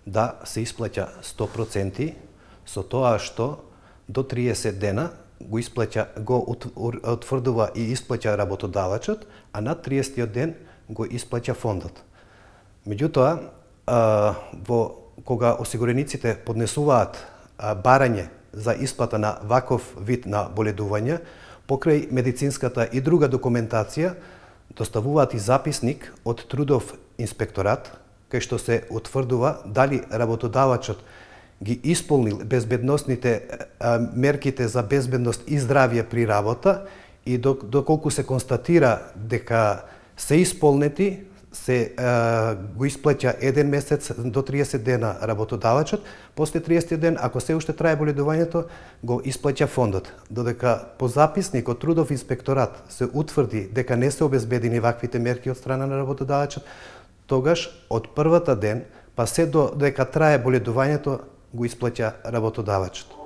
да се исплаќа 100%, со тоа што до 30 дена го утврдува и исплаќа работодавачот, а над 30 ден го исплаќа фондот. Меѓутоа, кога осигурениците поднесуваат барање за исплата на ваков вид на боледување, покрај медицинската и друга документација, доставуваат и записник од трудов инспекторат, кај што се утврдува дали работодавачот ги исполнил безбедносните мерките за безбедност и здравје при работа и доколку се констатира дека се исполнети, се го исплаќа 1 месец до 30 дена работодавачот, после 30 ден, ако се уште трае боледувањето, го исплаќа фондот. Додека по записник од трудов инспекторат се утврди дека не се обезбедени ваквите мерки од страна на работодавачот, тогаш од првата ден, па се до дека трае боледувањето, го исплаќа работодавачот.